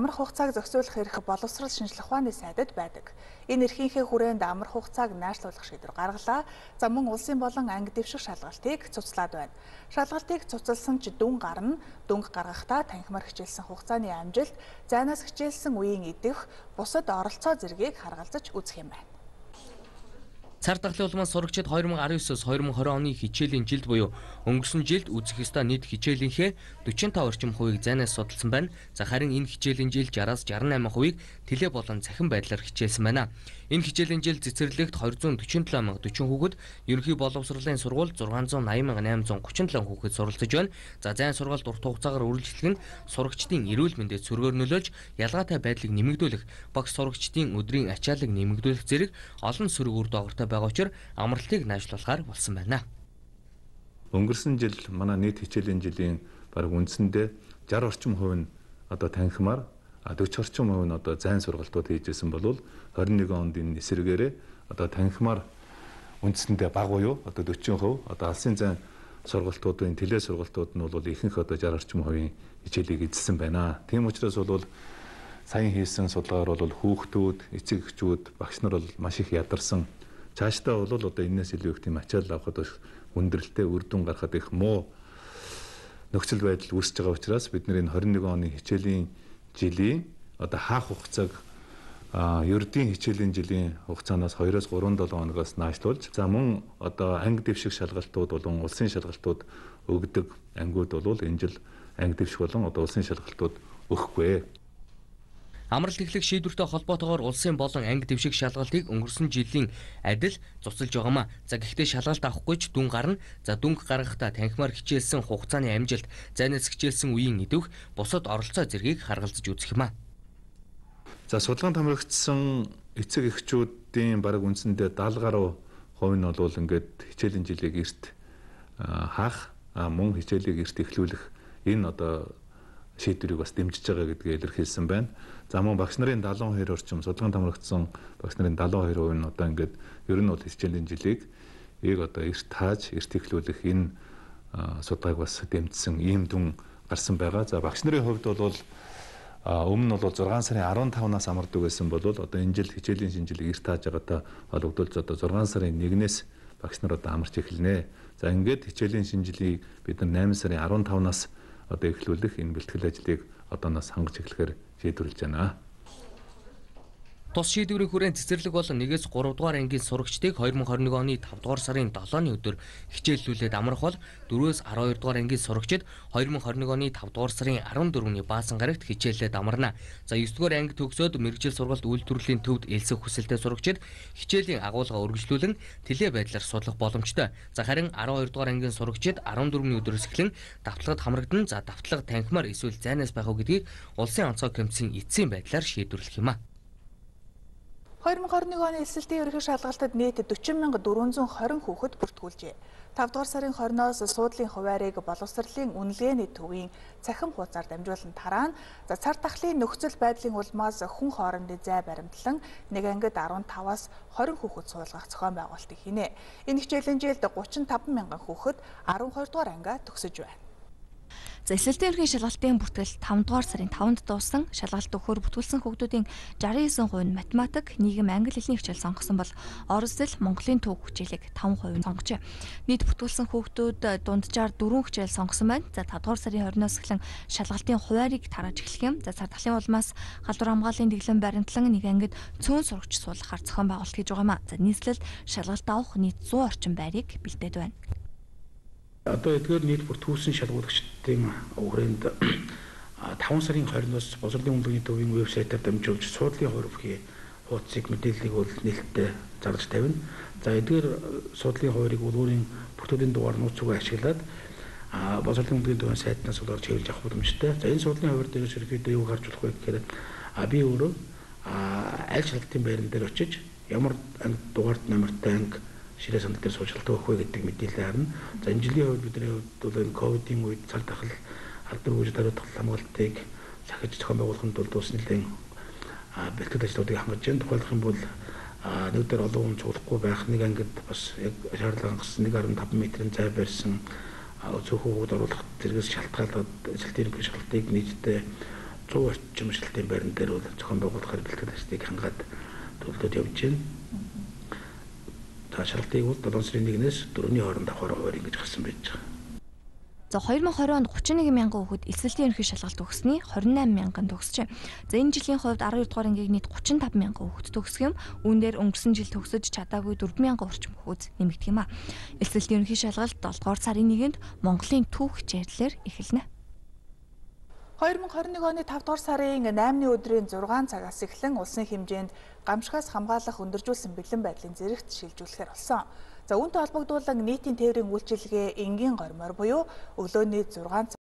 Амар хугацааг зохицуулах эрх боловсрол шинжилх ухааны сайдад байдаг. Энэ эрхийнхээ хүрээнд амар хугацааг наашлуулах шийдвэр гаргалаа. За мөн улсын болон анги дэвших шалгалтыг цуцлаад байна. Шалгалтыг цуцлсан ч дүн гарна. Дүнг гаргахдаа танхимаар хичээлсэн хугацааны амжилт, зайнаас хичээлсэн үеийн идэх, бусад оролцоо зэргийг харгалзаж үзэх юм байна. Цар тахлын улмаас сурагчид 2019-с 2020 оны хичээлийн жилд буюу өнгөрсөн жилд үзэх ёстой нийт хичээлийнхээ 45 орчим хувийг зайнаас судалсан байна. За харин энэ хичээлийн жил 60-аас 68% тэлээ болон цахим байдлаар хичээлсэн байна. Энэ хичээлийн жил цэцэрлэгт 247,040 хүүхэд, ерөнхий боловсролын сургууль 680,837 хүүхэд суралцж байна. За зайн сургаалт урт хугацаагаар үргэлжлэх нь сурагчдын эрүүл мэндэд сөргөөр нөлөөлж, ялгаатай байдлыг нэмэгдүүлэх, багш сурагчдын өдрийн ачааллыг нэмэгдүүлэх зэрэг олон сөрөг үр дагавартай байгаа учраас амралтыг наажлуулахаар болсон байна. Өнгөрсөн жил манай нийт хичээлийн жилийн бараг үндсэндээ 60 орчим хувь нь одоо танхимаар 40 орчим хувь нь одоо зайн сургалтууд хийжсэн болвол 21 онд энэ эсрэгээрээ одоо танхимаар үндсэндээ бага буюу одоо 40% одоо алсын зайн сургалтуудын тэлээ сургалтууд нь бол ихэнх одоо 60 орчим хувийн хичээлийг эзэлсэн байна. Тийм учраас бол саяхан хийсэн судалгаагаар бол хүүхдүүд, эцэг эхчүүд, багш нар бол маш их ядарсан. Цаашдаа бол одоо энэс илүү их тийм ачаал авахд хүндрэлтэй үр дүн гаргахад их муу нөхцөл байдал үүсэж байгаа учраас бид нэр энэ 21 оны хичээлийн жилийн одоо хаах хугацааг ердийн хичээлийн жилийн хугацаанаас 2-3 7 хоногоос наашлуулж за мөн одоо анги дэвших шалгалтууд болон улсын шалгалтууд өгдөг ангиуд бол энэ жил анги дэвших болон одоо улсын шалгалтууд өгөхгүй. Амралт эхлэх шийдвэртэй холбоотойгоор улсын болон анги дэвших шалгалтыг өнгөрсөн жилийн адил цуцлж байгаамаа. За гэхдээ шалгалт авахгүй ч дүн гарна. За дүнг гаргахдаа танхимаар хичээлсэн хугацааны амжилт, зайнаас хичээлсэн үеийн идэвх, бусад оролцоо зэргийг харгалзаж үзэх юм а. За судалгаанд хамрагдсан эцэг эхчүүдийн бараг үндсэндээ 70 гаруй хувь нь бол ингээд хичээлийн жилийг эрт хаах, мөн хичээлийг эрт эхлүүлэх энэ одоо шийдвэрийг бас дэмжиж байгаа гэдгийг илэрхийлсэн байна. За мөн багш нарын 72 орчим судалгаанд хамрагдсан багш нарын 72% нь одоо ингээд ер нь бол хичээлийн жилийг одоо эрт тааж, эрт эхлүүлэх энэ судалгааг бас дэмжсэн ийм дүн гарсан байгаа. За багш нарын хувьд бол өмнө нь бол 6 сарын 15-наас амардаг байсан бол одоо энэ жил хичээлийн шинжилгээг эрт тааж байгаатай холбогдуулж одоо 6 сарын 1-ээс багш нар одоо амарч эхэлнэ. За ингээд хичээлийн шинжилгээг бид нар 8 сарын 15-наас одоо эхлүүлэх энэ бэлтгэл ажлыг одооноос хангаж эхлэхээр шийдвэрлэж байна. Тус шийдвэрийн хүрээнд цэцэрлэг болон 1-ээс 3 дугаар ангийн сурагчдыг 2021 оны 5 дугаар сарын 7-ны өдөр хичээллүүлээд амрах бол 4-өөс 12 дугаар ангийн сурагчид 2021 оны 5 дугаар сарын 14-ний баасан гарагт хичээллээд амарна. За 9 дугаар анги төгсөөд мэргэжил сургалт үйлдвэрлэлийн төвд элсэх хүсэлтэй сурагчид хичээлийн агуулга үргэлжлүүлэн тэлээ байдлаар судлах боломжтой. За харин 12 дугаар ангийн сурагчид 14-ний өдрөөс эхлэн давтлагад хамрагдан за давтлага танхимаар эсвэл зайнаас байх уу гэдгийг улсын онцгой комиссийн эцсийн байдлаар шийдвэрлэх юм а. 2021 оны эсэлтийн ерөнхий шалгалтад нийт 40,420 хүүхэд бүртгүүлжээ. 5 дугаар сарын 20-оос суудлын хуваарийг боловсролын үнэлгээний төвийн цахим хуудасаар дамжуулан тараана. За цар тахлын нөхцөл байдлын улмаас хүн хоорондын зай баримтлан нэг ангид 15-аас 20 хүүхэд суулгах зохион байгуулалтыг хийнэ. Энэ хичээлийн жилд 35,000 хүүхэд 12 дугаар ангиа төгсөж байна. За эсэлтийн ерөнхий шалгалтын бүртгэл 5 дугаар сарын 5-нд дууссан. Шалгалт өгөхөөр бүртгүүлсэн хүүхдүүдийн 69% нь математик, нийгэм, англи хэлний хичээл сонгосон бол орос зэл, Монголын түүх хичээлийг 5% сонгожээ. Нийт бүртгүүлсэн хүүхдүүд дунджаар 4 хичээл сонгосон байна. За 5 дугаар сарын 20-оос эхлэн шалгалтын хуваарийг тарааж эхлэх юм. За цар тахлын улмаас халдвар хамгааллын дэглэм баримтлан нэг ангид цөөн сурагч суулгахаар зохион байгуулалт хийж байгаа юм а. За нийслэл шалгалт авах нийт 100 орчим байрыг бэлдээд байна. Одоо эдгээр нийт бүртгүүлсэн шалгуулагчдын хүрээнд 5 сарын 20-оос боловсролын үнэлгээний төвийн вебсайтаар дамжуулж суудлын хуваарийн хуудсыг мэдээллийг бол нээлттэй зарлаж тавина. За эдгээр суудлын хуваарийг өөрийн бүтээгдэхүүн дугаар нууцугаа ашиглаад боловсролын үнэлгээний төвийн сайтнаас олж хэвлэж авах боломжтой. За энэ суудлын хуваар дээрээс ерөөдөө юу гарч болох вэ гэхээр би өөрөө аль шалгалтын байран дээр очиж ямар дугаард номертой анги ширээ сандал дээр суулгалт өгөх вэ гэдэг мэдээлэл харна. За энэ жилийн хувьд бидний хувьд бол энэ ковидын үед цар тахал халдвар үүсэж хариуцлах хамгаалтыг сахиж зохион байгуулахын тулд ус нэлийн бэлтгэл ажлуудыг хангаж байна. Тухайлбал юм бол нэг дээр олон хүн цуглахгүй байх, нэг ангид бас яг шаардлага хангасан 1.5 метрийн зай барьсан цөөхөн хүүхд оруулах зэрэгс шалтгаалаад эсэлтийн шалтгаалтыг нийтдээ 100 орчим шилтийн байран дээр бол зохион байгуулахаар бэлтгэл ажлыг хангаад төлөвлөд явж байна. За шалгалтыг бол 7 сарын 1-ээс 4-ний хооронд авахаар хуваар ингэж гарсан байж байгаа. За 2020 онд 31 мянган хүүхэд эсвэлтийн ерөнхий шалгалт төгссөний 28 мянган төгсжээ. За энэ жилийн хувьд 12 дугаар ангийг нийт 35 мянган хүүхэд төгсөх юм. Үүн дээр өнгөрсөн жил төгсөж чадаагүй 4 мянган орчим хүүхэд нэмэгдэх юм а. Эсвэлтийн ерөнхий шалгалт 7 дугаар сарын 1-нд Монголын Түүх хичээлээр эхэлнэ. 2021 оны 5 дугаар сарын 8-ны өдрийн 6 цагаас эхлэн улсын хэмжээнд гамшигаас хамгаалах өндөржүүлсэн бэлэн байдлын зэрэгт шилжүүлэхээр болсон. За үүнтэй холбогдуулан нийтийн тээврийн үйлчилгээ энгийн гормоор буюу өглөөний 6